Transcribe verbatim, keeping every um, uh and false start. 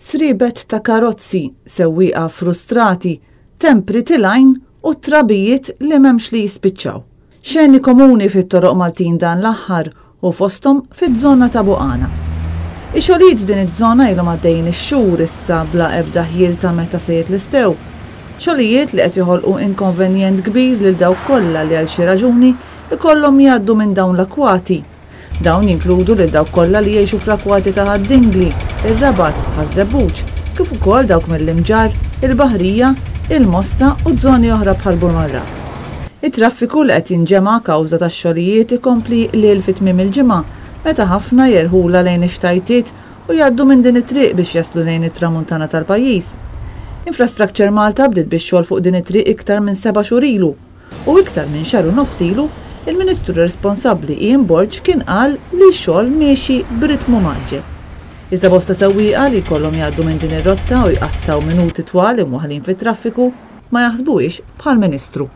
Sriebet ta' karozzi, sewwieqa frustrati, tempri tilgħin u trabijiet li m'hemmx li jispiċċaw. Xeni komuni fit-toroq Maltin dan l-aħħar u fosthom fiż-żona ta' Buqana. Ix-xogħlijiet f'din iż-żona ilhom għaddejjin ix-xhur issa bla ebda ħjiel ta' meta se jitlestew. Xogħlijiet li qed joħolqu inkonvenjent kbir lil dawk kollha li għal xi raġuni ikollhom jgħaddu minn dawn l-akwati. Dawn jinkludu lil dawk kollha li jgħixu fl-akwati ta' Ħad-Dingli, ir-Rabat, Ħaż-Żebbuġ, kif ukoll dawk mill-Imġarr, il-Baħrija, il-Mosta u żoni oħra bħal Burmarrad. It-traffiku li qed jinġema' kawża tax-xogħlijiet ikompli lil fi tmiem il-ġimgħa meta ħafna jerħula lejn ix-xtajtiet u jgħaddu minn din it-triq biex jaslu lejn it-tramuntana tal-pajjiż. Infrastructure Malta bdiet bix-xogħol fuq din it-triq iktar minn seba' xhur ilu u iktar minn xahar u nofs ilu il-Ministru responsabbli Ian Borg kien qal li x-xogħol miexi b'ritmu mgħaġġel. Iżda bosta sewwieqa li jkollhom jgħaddu minn din ir-rotta u jqattgħu minuti twal imwaħħlin fit-traffiku ma jaħsbuhiex bħall-Ministru.